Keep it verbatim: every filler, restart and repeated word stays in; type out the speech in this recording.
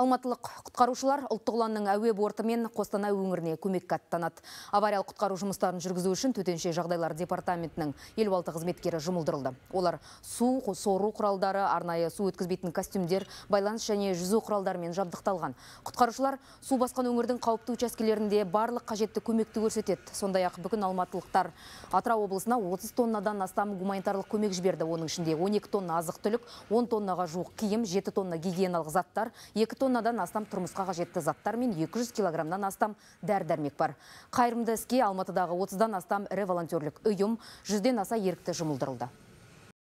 Алматылық құтқарушылар ұлттық ұланның әуе борты мен Қостанай өңіріне көмекке аттанады. Авариялық құтқару жұмыстарын жүргізу үшін төтенше жағдайлар департаментінің елу алты қызметкері жұмылдырылды. Олар су, сору құралдары, арнайы су өткізбейтін костюмдер, байланыс және жүзу құралдарымен жабдықталған. Құтқарушылар су басқан өңірдің қауіпті учаскелерінде барлық қажетті көмекті көрсетеді. Сондай-ақ бүгін алматылықтар Атырау облысына отыз тоннадан астам гуманитарлық көмек жіберді. Оның ішінде он екі тонна азық-түлік, он тоннаға жуық киім, жеті тонна гигиеналық заттар, екі тоннадан астам тұрмысқа қажетті заттар мен екі жүз килограммнан астам дәрі-дәрмек бар. Қайырымды іске Алматыдағы отыздан астам ірі волонтерлік ұйым, жүзден аса ерікті жұмылдырылды.